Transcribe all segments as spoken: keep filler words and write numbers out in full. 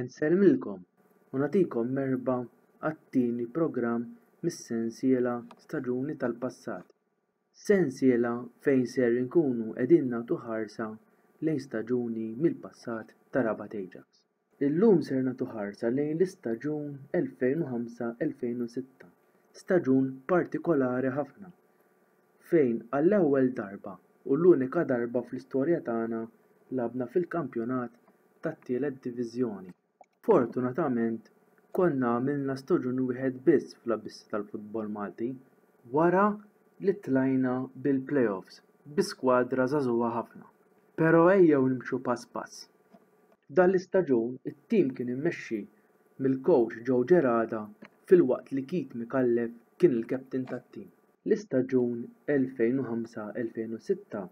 Insellmilkom u nagħtikom merħba għat-tieni programm mis-sensiela Staġuni tal-Passat. Sensiela fejn ser inkunu qegħdin nagħtu ħarsa lejn staġuni mill-passat ta' Rabat Ajax. Illum ser nagħtu ħarsa lejn l-istaġun elfejn u ħamsa elfejn u sitta, staġun partikolari ħafna fejn għall-ewwel darba u l-unika darba fl-istorja tagħna lagħabna fil-kampjonat tat-tielet diviżjoni. Fortunatament konna għamilna staġun wieħed biss fl-abissi tal-futbol Malti wara li tlajna bil-playoffs bi skwadra żagħżugħa ħafna. Però ejjew nimxu pass pass. F'dan l-istaġun it-tim kien immexxi mill-coach Joe Gerada filwaqt li Keith Micallef kien il-captain tat-tim. L-istaġun elfejn u ħamsa elfejn u sitta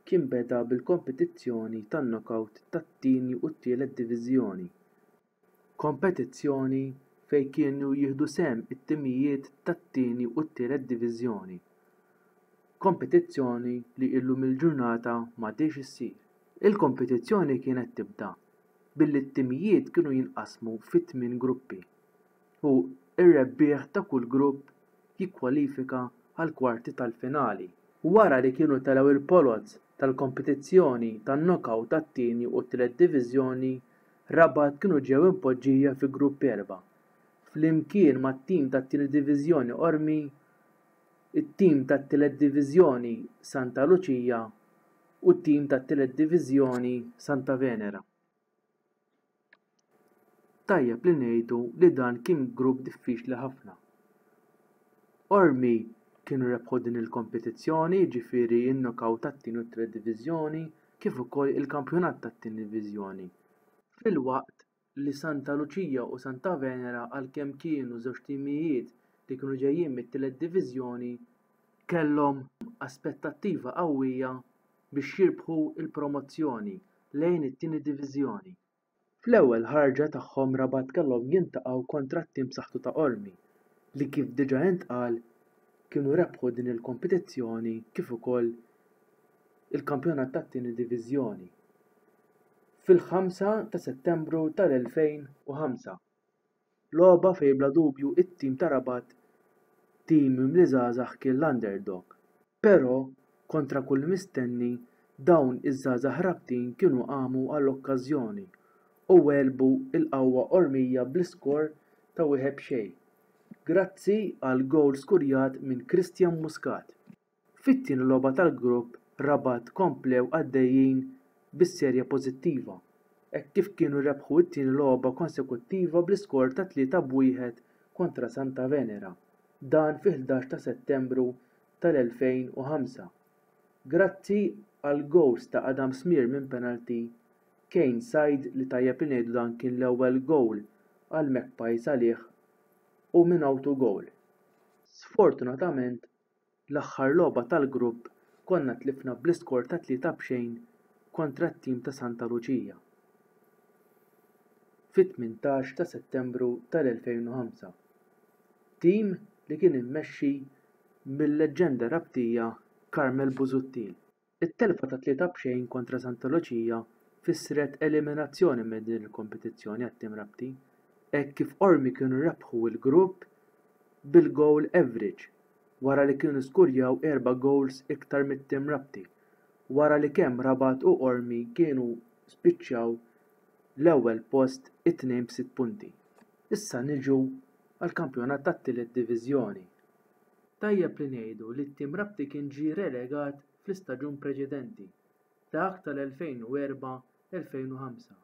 kien beda bil-kompetizzjoni tan-knockout tat-tieni u t-tielet diviżjoni. Kompetizzjoni fejn kienu jieħdu sehem it-timijiet tat-tieni u t-tielet diviżjoni. Kompetizzjoni li illum il-ġurnata m'għadhiex issir. Il-kompetizzjoni kienet tibda billi t-timijiet kienu jinqasmu fi tmien gruppi u r-rebbieħ ta' kull grupp jikkwalifika għal kwarti tal-finali. Wara li kienu telgħu il-poloz tal-kompetizzjoni tan-knockout tat-tieni u t-tielet diviżjoni, Rabat kienu ġew impoġġija fi grupp erba', flimkien mat-tim tat-tieni diviżjoni Qormi, it-tim tat-tielet diviżjoni Santa Lucia u t-tim tat-tielet diviżjoni Santa Venera. Tajjeb li ngħidu li dan kien grupp diffiċli ħafna. Qormi kienu rebħu din il-kompetizzjoni, ġifieri n-knockout tat-tieni u t-tielet diviżjoni, kif ukoll il-kampjonat tat-tieni diviżjoni. Filwaqt li Santa Lucia u Santa Venera għalkemm kienu żewġ timijiet li kienu ġejjin mit-tielet diviżjoni, kellhom aspettattiva qawwija biex jirbħu il-promozzjoni lejn it-tieni diviżjoni. Fl-ewwel ħarġa tagħhom Rabat kellhom jintaqgħu kontra t-tim b'saħħtu ta' Qormi li kif diġà intqal kienu rebħu din il-kompetizzjoni kif ukoll il-kampjonat tat-tieni diviżjoni. Fil-ħamsa ta' Settembru tal-elfejn u ħamsa. Logħba fejn bla dubju it-tim ta' Rabat, tim mimli żgħażagħ, kien l-underdog. Però kontra kull mistenni dawn iż-żgħażagħ Rabtin kienu qamu għall-okkażjoni u għelbu l-qawwa Qormija bl-iskor ta' wieħed b'xejn. Grazzi għal gowl skurjat minn Christian Muscat. Fit-tieni logħba tal-grupp Rabat komplew għaddejjin bis-serje pożittiva, hekk kif kienu rebħu t-tieni logħba konsekuttiva bl-iskor ta' tlieta b'wieħed kontra Santa Venera, dan fi ħdax ta' Settembru tal-elfejn u ħamsa. Grazzi għal gowls ta' Adam Smear minn penalty, Kane Said li tajjeb li ngħidu dan kien l-ewwel gowl għal Magpies għalih u minn auto goal. Sfortunatament, l-aħħar logħba tal-grupp konna tlifna bl-iskor ta' tlieta b'xejn kontra t-tim ta' Santa Lucia. Fit-tmintax ta' Settembru tal-elfejn u ħamsa. Tim li kien immexxi mill-leġġenda Rabtija Carmel Busuttil. It-telfa ta' tlieta b'xejn kontra Santa Lucia fissret eliminazzjoni minn din il-kompetizzjoni għat-tim Rabti, hekk kif Qormi kienu rebħu l-grupp bil-goal average wara li kienu skurjaw erba' goals iktar mit-tim Rabti, wara li kemm Rabat u Qormi kienu spiċċaw l-ewwel post it-tnejn b'sitt punti. Issa niġu għall-kampjonat tat-tielet diviżjoni. Tajjeb li ngħidu li t-tim Rabti kien ġie relegat fl-istaġun preċedenti, dak tal-elfejn u erba' elfejn u ħamsa,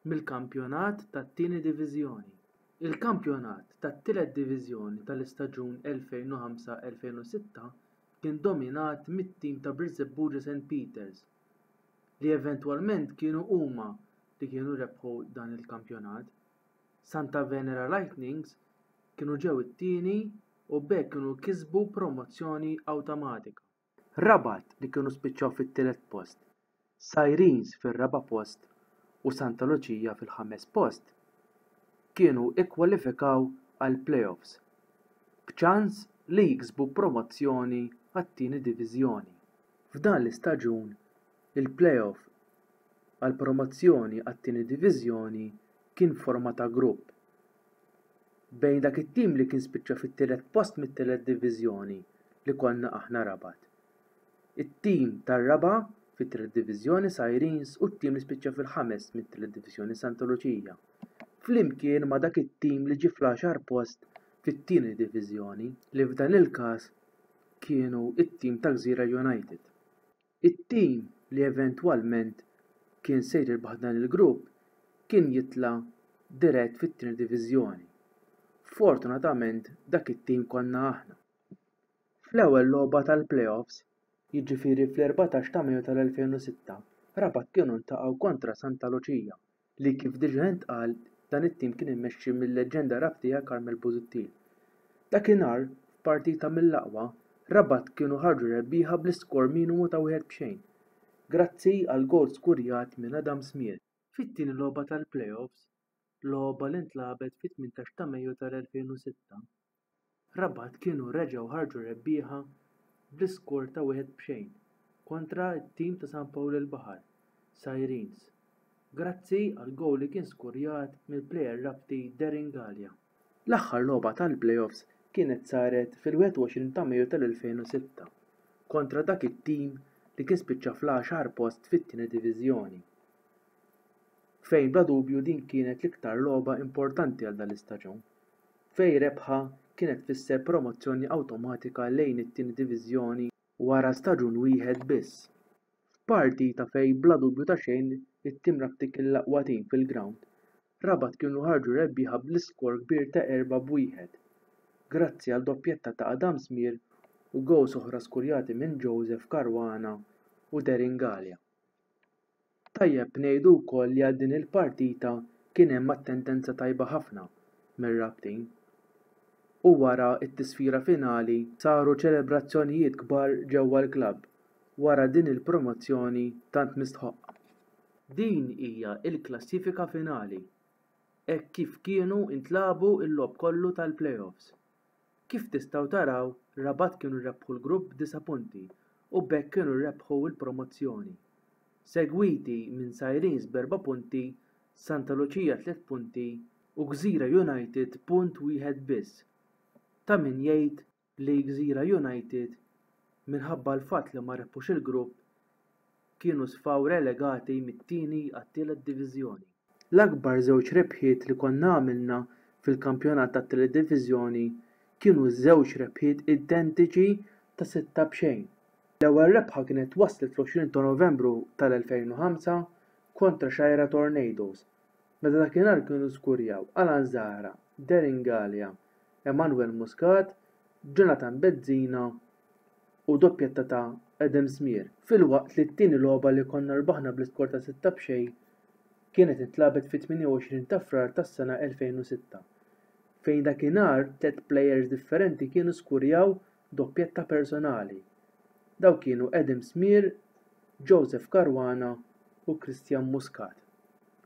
mill-kampjonat tat-tieni diviżjoni. Il-kampjonat tat-tielet diviżjoni tal-istaġun elfejn u ħamsa elfejn u sitta kien dominat mit-tim ta' Birżebbuġa Saint Peters, li eventwalment kienu huma li kienu rebħu dan il-kampjonat. Santa Venera Lightnings kienu ġew it-tieni u b'hekk kienu kisbu promozzjoni awtomatika. Rabat li kienu spiċċaw fit-tielet post, Sirens fir-raba' post u Santa Lucia fil-ħames post kienu ikkwalifikaw għal playoffs b'ċans li jiksbu promozzjoni għat-tieni diviżjoni. F'dan l-istaġun il-playoff għal promozzjoni għat-tieni diviżjoni kien forma ta' grupp bejn dak it-tim li kien spiċċa fit-tielet post mit-tielet diviżjoni li konna aħna Rabat. It-tim tar-raba' fit-tielet diviżjoni Sirens u t-tim li spiċċa fil-ħames mit-tielet diviżjoni Santa Lucia. Flimkien ma' dak it-tim li ġie fl-għaxar post fit-tieni diviżjoni li f'dan il-każ kienu it-tim ta' Gżira United. It-tim li eventwalment kien se jirbaħ dan il-grupp kien jitla' dirett fit-tieni diviżjoni. Fortunatament dak it-tim konna aħna. Fl-ewwel logħba tal-playoffs, jiġifieri fl-erbatax ta' Mejju tal-elfejn u sitta, Rabat kienu ntaqgħu kontra Santa Lucia li kif diġà intqal dan it-tim kien immexxi mill-leġġenda Rabtija Carmel Busuttil. Dakinhar, f'partita mill-aqwa, Rabat kienu ħarġu rebbieħa bl-iskor minimu ta' wieħed b'xejn, grazzi għal goal skurjat minn Adam Smeer. Fit-tieni logħba tal-playoffs, logħba li ntlagħbet fit-tmintax ta' Mejju tal-elfejn u sitta, Rabat kienu reġgħu ħarġu rebbieħa bl-iskor ta' wieħed b'xejn kontra t-tim ta' San Pawl il-Baħar, Sirens, grazzi għal goal li kien skurjat mill-plejer Rabti Darren Galea. L-aħħar logħba tal-playoffs kienet saret fil-wieħed u għoxrin ta' Mejju tal-elfejn u sitta kontra dak it-tim li kien spiċċa fl-għaxar post fit-tieni diviżjoni, fejn bla dubju din kienet l-iktar logħba importanti għal dan l-istaġun, fejn rebħa kienet tfisser promozzjoni awtomatika lejn it-tieni diviżjoni wara staġun wieħed biss. F'partita fejn bla dubju ta' xejn it-tim Rabti kien l-aqwa tim fil-ground, Rabat kienu ħarġu rebbieħa bl-iskor kbir ta' erba' b'wieħed, grazzi għal doppjetta ta' Adam Smeer u goals oħra skurjati minn Joseph Caruana u Darren Galea. Tajjeb ngħidu wkoll li għal din il-partita kien hemm attendenza tajba ħafna mir-Rabtin. U wara t-tisfira finali saru ċelebrazzjonijiet kbar ġewwa l-klabb wara din il-promozzjoni tant mistħoqqa. Din hija l-klassifika finali, hekk kif kienu ntlagħbu l-logħob kollu tal-playoffs. Kif tistgħu taraw, Rabat kienu rebħu l-grupp b'disa' punti u b'hekk kienu rebħu l-promozzjoni. Segwiti minn Sirens b'erba' punti, Santa Lucia tliet punti u Gżira United punt wieħed biss. Ta' min jgħid li Gżira United minħabba l-fatt li ma rebħux il-grupp kienu sfaw relegati mit-tieni għat-tielet diviżjoni. L-akbar żewġ rebħiet li konna għamilna fil-kampjonat tat-tielet diviżjoni kienu żewġ rebħiet identiċi ta' sitta b'xejn. L-ewwel rebħa kienet waslet fl-għoxrin ta' Novembru tal-elfejn u ħamsa kontra Xgħajra Tornadoes, meta dakinhar kienu skurjaw Alan Zahra, Darren Galea, Emanuel Muscat, Jonathan Bezzina u doppjetta ta' Adam Smeer, filwaqt li t-tieni logħba li konna rbaħna bl-iskor ta' sitta b'xejn kienet intlagħbet fit-tmienja u għoxrin ta' Frar tas-sena elfejn u sitta, fejn dakinhar tliet players differenti kienu skurjaw doppjetta personali. Daw kienu Adam Smeer, Joseph Caruana u Christian Muscat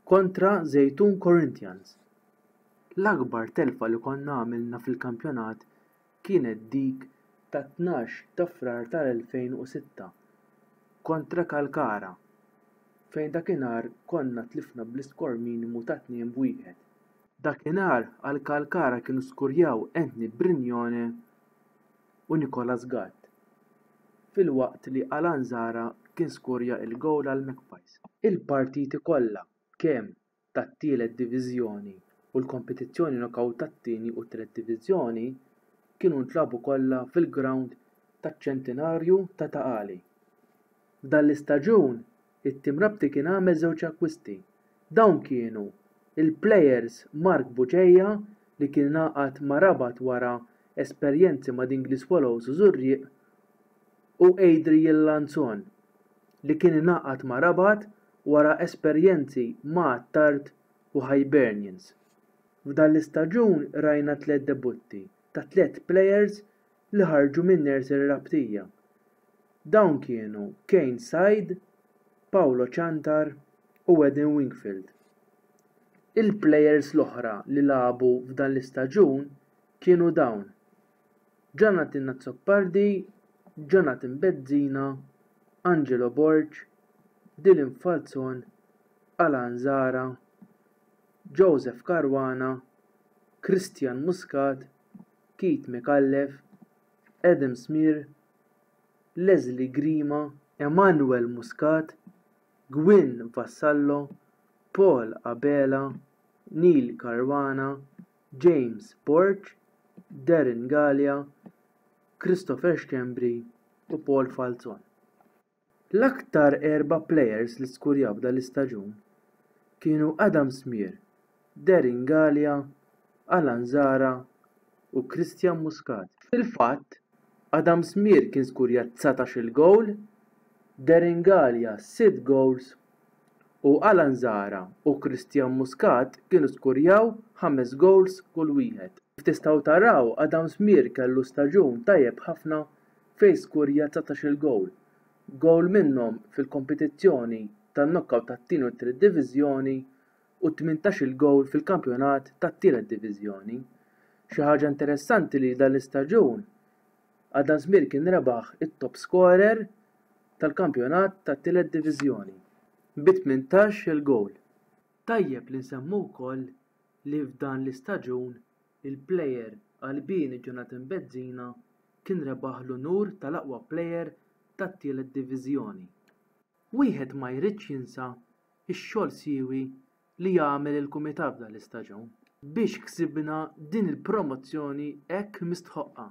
kontra Zejtun Corinthians. L-akbar telfa li konna għamilna fil-kampjonat kienet dik ta' tnax ta' Frar tal-elfejn u sitta kontra Kalkara, fejn dakinhar konna tlifna bl-iskor minimu ta' tnejn b'wieħed. Dakinhar għal Kalkara kienu skurjaw Anthony Brignone u Nicolas Gatt, filwaqt li Alan Zahra kien skurja il-gowl għal Magpies. Il-partiti kollha kemm tat-tielet diviżjoni u l-kompetizzjoni knockout tat-tieni u t-tielet diviżjoni kienu ntlagħbu kollha fil-ground taċ-ċentinarju ta' Ta' Qali. F'dan l-istaġun, it-tim Rabti kien għamel żewġ akkwisti. Dawn kienu il-players Mark Buġeja li kien ngħaqad ma' Rabat wara esperjenzi ma' Dingli Swallows u Żurrieq u Adrian Lanzon li kien ingħaqad ma' Rabat wara esperjenzi ma' Attard u Hibernians. F'dan l-istaġun rajna tliet debutti ta' tliet players li ħarġu minn nursery Rabtija. Dawn kienu Kane Said, Paolo Ciantar u Eden Wingfield. Il-players l-oħra li lagħbu f'dan l-istaġun kienu dawn: Jonathan Azzopardi, Jonathan Bezzina, Angelo Borg, Dylan Falzon, Alan Zara, Joseph Caruana, Christian Muscat, Keith Micallef, Adam Smear, Leslie Grima, Emanuel Muscat, Gwyn Vassallo, Paul Abela, Neil Caruana, James Borg, Darren Galea, Christopher Schembri u Paul Falzon. L-aktar erba' plejers li skurjaw f'dan l-istaġun kienu Adam Smear, Darren Galea, Alan Zahra u Christian Muscat. Fil-fatt, Adam Smear kien skurja dsatax-il gowl, Darren Galea sitt goals u Alan Zahra u Christian Muscat kienu skurjaw ħames goals kull wieħed. Kif tistgħu taraw, Adam Smear kellu staġun tajjeb ħafna fejn skurja dsatax-il gowl, gowl minnhom fil-kompetizzjoni tan-knockout tat-tieni u t-tielet diviżjoni u tmintax-il gowl fil-kampjonat tat-tielet diviżjoni. Xi ħaġa interessanti li dan l-istaġun Adam Smear kien rebaħ it-top scorer tal-kampjonat tat-tielet diviżjoni bi tmintax-il gowl. Tajjeb li nsemmu wkoll li f'dan l-istaġun il-plejer Albini Jonathan Bezzina kien rebaħ l-unur tal-aqwa plejer tat-tielet diviżjoni. Wieħed ma jridx jinsa x-xogħol siewi li għamel il-kumitat f'dan l-istaġun biex ksibna din il-promozzjoni hekk mistħoqqa.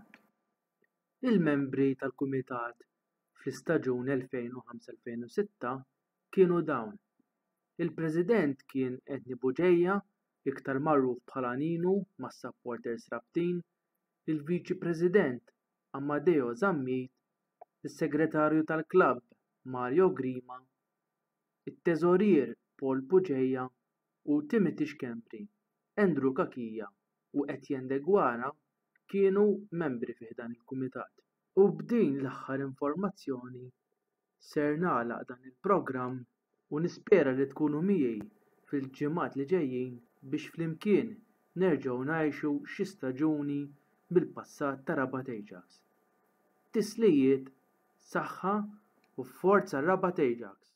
Il-membri tal-kumitat fl-istaġun elfejn u ħamsa elfejn u sitta kienu dawn. Il-President kien Anthony Bugeja, iktar magħruf bħala Ninu mas-supporters Rabtin, il-Viċi President Amadeo Zammit, is-Segretarju tal-Klabb Mario Grima, it-Teżorier Paul Bugeja u Timothy Schembri, Andrew Cachia u Etienne Deguara kienu membri fi dan il-kumitat. U b'din l-aħħar informazzjoni ser nagħlaq dan il-programm u nispera li tkunu miegħi fil-ġimgħat li ġejjin biex flimkien nerġgħu ngħixu xi staġuni mill-passat ta' Rabat Ajax. Tislijiet, saħħa u forza Rabat Ajax!